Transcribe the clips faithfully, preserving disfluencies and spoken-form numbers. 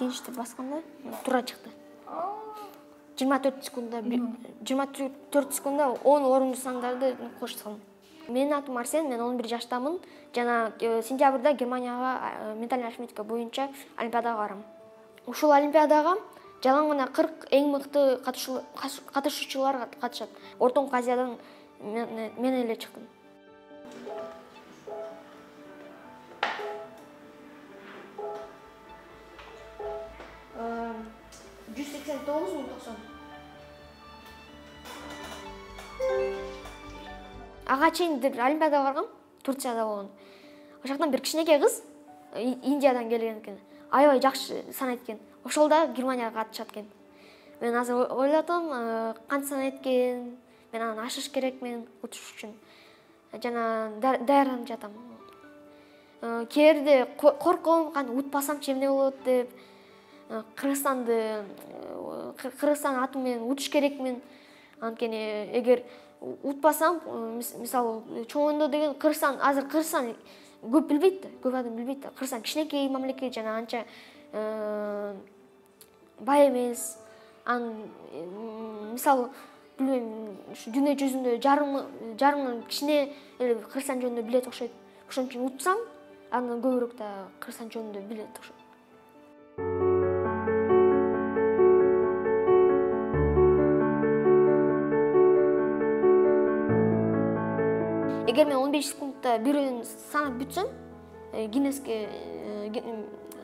финишти басканда туура чыкты. жыйырма төрт секундда жыйырма төрт секундда он орунду сандарды коштум. Менин атым Арсен, мен он бир жаштамын. Жана сентябрда Германияга ментальный арифметика боюнча олимпиадага барам. Ушул олимпиадага жалаң гана кырк эң мыкты катышуучулар катышат. Ортоңку Азиядан мен эле чыктым. жүз сексен тогуз миң токсон. Ага чейин олимпиадага баргам, Турцияда болгон. Ошоктон бир кичинекей кыз Индиядан келген экен. Аябай жакшы санайт экен. Ошол да Германияга катышат экен. Мен азыр ойлотом, кантип санайт экен, мен анан ашыш керекмин утуш үчүн. Жана даярданып жатам. Кээрде корком, кантип утпасамчы эмне болот деп. Кыргызстанды Кыргызстан аты менен утуш керекмин. Анткени эгер утпасам, мисалы, чоңондо деген Кыргызстан, азыр Кыргызстан көп билбейт да, көп адам билбейт да. Кыргызстан кичинекей мамлекет жана анча бай эмес. Ан мисалы, билбейм, ушу дүйнө жүзүндө жарымдан кичине эле Кыргызстан жөнүндө билет окшойт. Ошон үчүн утсам, андан көбүрөөк да Кыргызстан жөнүндө билет окшойт. Эгер мен он беш секундда бирөөнү санап бүтсөм, Гиннеске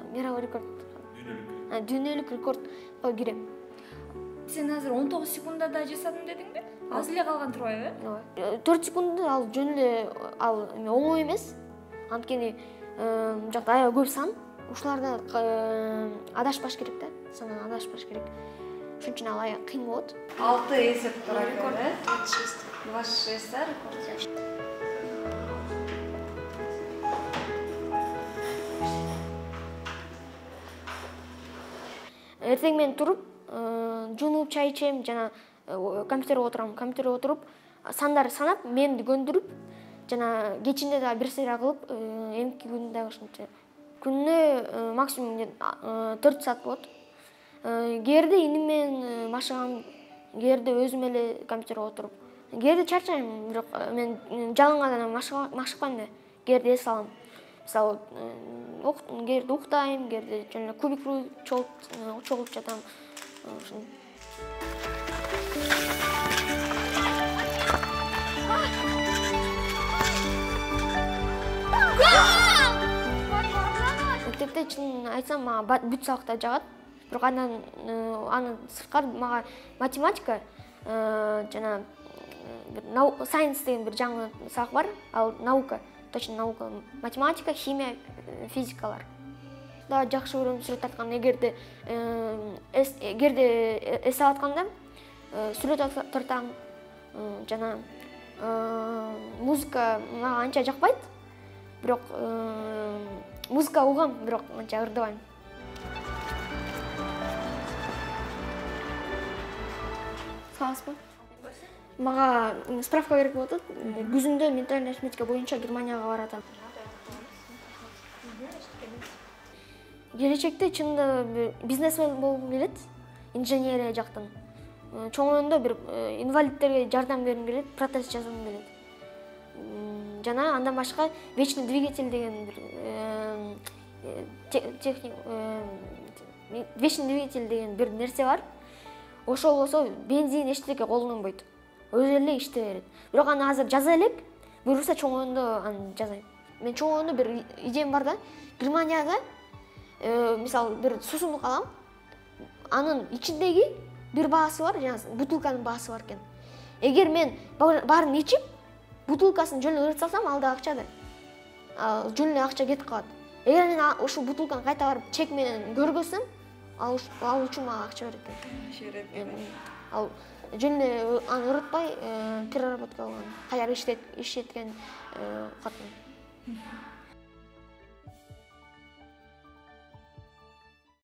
мировой рекорд, дүйнөлүк рекордго кирем. Сен азыр он тогуз секундада жасадым дедиңби? Аз эле калган турбайбы? Ооба. төрт секунд ал жөн эле ал оңой эмес. Анткени жакта аябай көп сан. Ушулардан адашпаш керек да, санан адашпаш керек. Ошон үчүн ал аябай кыйын болот. алты эсеп турат экен, э? двадцать шесть рекорд. Эртең менен туруп, жуунуп, чай ичем, жана компьютерге отурам. Компьютерге отуруп, сандарды санап, мемди көндүрүп, жана кечинде да бир сыйра кылып, эмки күн дагы ошончо. Күнүнө максимум төрт саат болот. Кээде иним менен машыгам, кээде өзүм эле компьютерге отуруп. Кээде чарчайм, бирок мен жалаң гана машыкпайм да. Кээде эс алам. Мисалы, кээде уктайм, кээде жөн эле кубик чогулуп жатам. Ошон. Мектепте чын айтсам, мага бүт сабактар жагат. Бирок андан аны сырткары мага математика жана science деген бир жаңы сабак бар. Ал наука, точно наука, математика, химия, физикалар. Да жакшы көрөм сүрөт тарткан. Эгерде эгерде эс алып атканда сүрөт тартам. Жана музыка мага анча жакпайт. Бирок музыка угам, бирок анча ырдабайм. Саласызбы? Мага справка керек болуп атат. Күзүндө ментальный арифметика боюнча Германияга баратам. Келечекте чынында бизнесмен болгум келет, инженерия жактан. Чоңоюндо бир инвалидтерге жардам бергим келет, протез жасагым келет. Жана андан башка вечный двигатель деген бир техник вечный двигатель деген бир нерсе бар. Ошол болсо бензин эчтеке колдонбойт. Өзү эле иштей берет. Бирок аны азыр жаза элек, буюрса чоңоюндо аны жазайм. Мен чоңоюндо бир идеям бар да. Германияда мисалы бир суусундук алам. Анын ичиндеги бир баасы бар, жана бутылканын баасы бар экен. Эгер мен баарын ичип, бутылкасын жөн эле ырыт салсам, ал да акча да. Ал жөн эле акча кетип калат. Эгер мен ушул бутылканы кайта барып чек менен көргөзсөм, ал үчүн мага акча берет экен. Ал жөн эле аны ырытпай переработка кылган, кайра иштеткен катын.